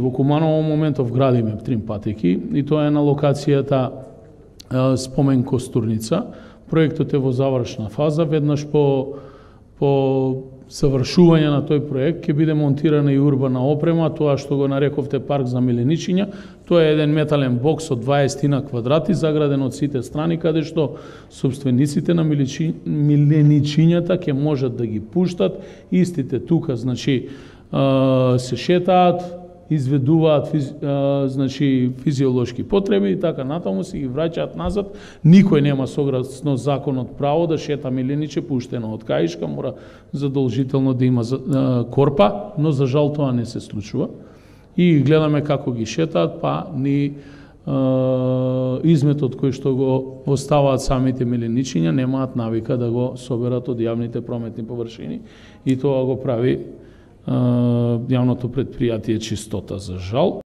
во Куманово моментов градиме 3 патеки и тоа е на локацијата Спомен Костурница. Проектот е во завршна фаза, веднаш по завршување на тој проект ќе биде монтирана и урбана опрема, тоа што го нарековте парк за миленичиња. Тоа е еден метален бокс од 20 квадрати, заграден од сите страни, каде што собствениците на миленичињата ќе можат да ги пуштат, истите тука, значи, се шетаат, изведуваат физиолошки потреби и така натаму се ги враќаат назад. Никој нема согласно законот право да шета милениче пуштено од каишка, мора задолжително да има корпа, но за жал тоа не се случува. И гледаме како ги шетаат, па ни изметот кој што го оставаат самите миленичиња немаат навика да го соберат од јавните прометни површини и тоа го прави јавното претпријатие Чистота, за жал.